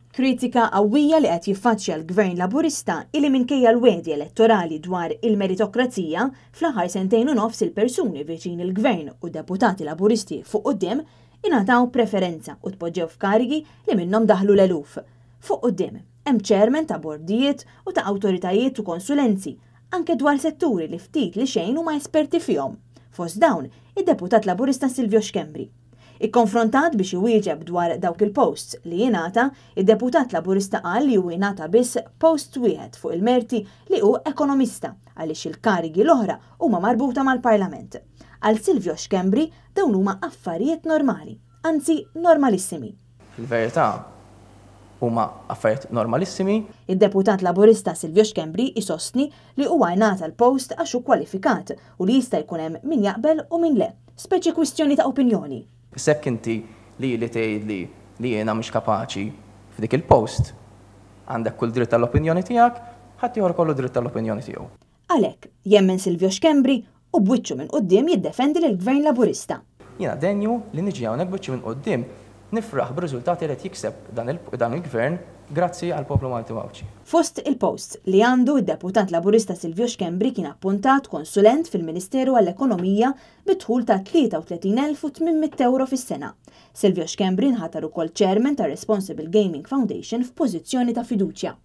Kritika qawwija li qed jiffaċċja l-Gvern Laburista hi li minkejja l-wegħdi elettorali dwar il-meritokrazija, fl-aħħar sentejn u nofs il-persuni viċin il-Gvern u deputati Laburisti fuq quddiem ingħataw preferenza u tpoġġew f'karigi li minnhom daħlu l-eluf. Fuq quddiem, hemm chairman ta' bordijiet u ta' awtoritajiet u konsulenzi, anke dwar setturi li ftit li xejn huma esperti fihom. Fost dawn, id-Deputat Laburista Silvio Schembri. Ikkonfrontat biex iwieġeb dwar dawk il-posts li jingħata, id-Deputat Laburista qal li hu jingħata biss post wieħed fuq il-merti li hu ekonomista għaliex il-karigi l-oħra huma marbuta mal-Parlament. Għal Silvio Schembri dawn huma affarijiet normali, anzi normalissimi. Fil-verità huma affarijiet normalissimi. Id-Deputat Laburista Silvio Schembri jsostni li huwa ingħata l-post għax hu kwalifikat u li jista' jkun hemm min jaqbel u min le, speċi kwistjoni ta' opinjoni. Issa jekk inti lili tgħidli li jiena mhix kapaċi f'dik il-post, għandek kull dritt għall-opinjoni tiegħek, ħaddieħor ikollu dritt għall-opinjoni tiegħu. Għalhekk, jemmen Silvio Schembri u b'wiċċu minn quddiem jiddefendi lill-Gvern Laburista. Jiena denju li niġi hawnhekk b'wiċċi minn quddiem nifraħ bir-riżultati li qed jikseb dan il-Gvern grazzi għall-poplu Malti u Għawdxi. Fost il-posts li għandu, id-Deputat Laburista Silvio Schembri kien appuntat konsulent fil-Ministeru għall-Ekonomija bi dħul ta' 33,800 ewro fis-sena. Silvio Schembri nħatar ukoll Chairman tar-Responsible Gaming Foundation f'pożizzjoni ta' fiduċja.